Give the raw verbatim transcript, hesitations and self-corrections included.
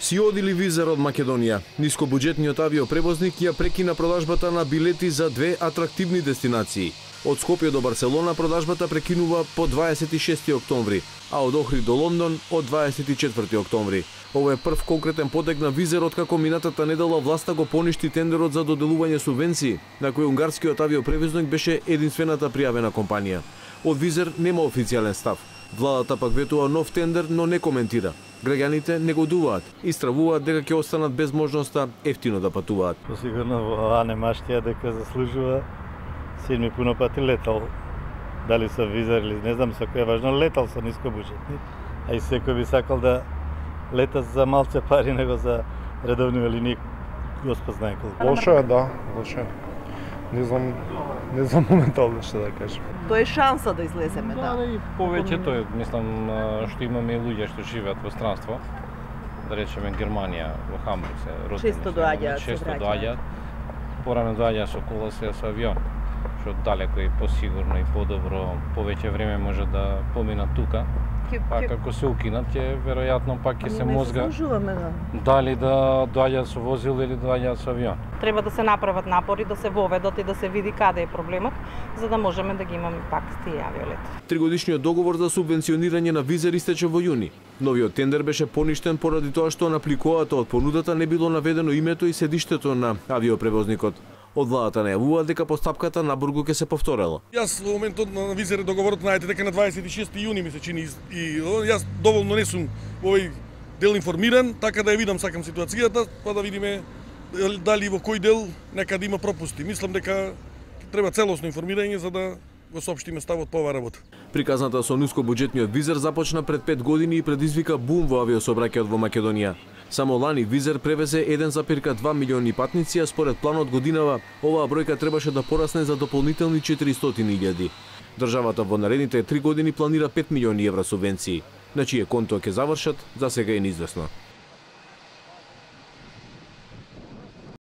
Си одили Визер од Македонија. Нискобуџетниот авиопревозник ја прекина продажбата на билети за две атрактивни дестинации. Од Скопје до Барселона продажбата прекинува по дваесет и шести октомври, а од Охрид до Лондон од дваесет и четврти октомври. Ова е прв конкретен потек на Визер откако минатата недела власта го поништи тендерот за доделување субвенции, на кој унгарскиот авиопревозник беше единствената пријавена компанија. Од Визер нема официјален став. Владата пак ветува нов тендер, но не коментира. Граѓаните негодуваат и стравуваат дека ќе останат без можноста ефтино да патуваат. Сигурно ова не маштија дека заслужува. Син ми пуно пати летал. Дали со Визер или не знам со кој, важно летал со нискобуџетни. А и секој би сакал да лета за малце пари него за редовни линии. Господ знае колку. Лошо е, да, лошо е. Не знам, не знам моментално што да кажам. Тоа е шанса да излеземе, да. Да, и повеќето е, мислам, што имаме и луѓе што живеат во странство. Да речеме Германија, во Хамбург се родени. Често доаѓаат, се често враќаат. доаѓаат. Порано доаѓаат со кола, се со авион. Што далеко и посигурно и подобро, повеќе време може да поминат тука. Па како се укинат, ќе веројатно пак ќе се мозга да. дали да доаѓаат со возило или доаѓаат со авион. Треба да се направат напори, да се воведат и да се види каде е проблемот, за да можеме да ги имаме пак тие авиолети. Тригодишниот договор за субвенционирање на Визер истече во јуни. Новиот тендер беше поништен поради тоа што на апликоата од понудата не било наведено името и седиштето на авиопревозникот. Од владата најавува дека постапката на Бургу ќе се повторела. Јас во моментот на Визер договорот знаете дека на дваесет и шести јуни ми се чини и јас доволно не сум овој дел информиран, така да ја видам сакам ситуацијата, па да видиме дали во кој дел некаде има пропусти. Мислам дека треба целосно информирање за да го соопштиме ставот по оваа работа. Приказната со нискобуџетниот Визер започна пред пет години и предизвика бум во авиосообраќајот во Македонија. Само лани Визер превезе еден запир два милиони патници, а според планот годинава оваа бројка требаше да порасне за дополнителни четиристотини илјади. Државата во наредните три години планира пет милиони евра субвенции. На чие конто ќе завршат, за сега е неизвестно.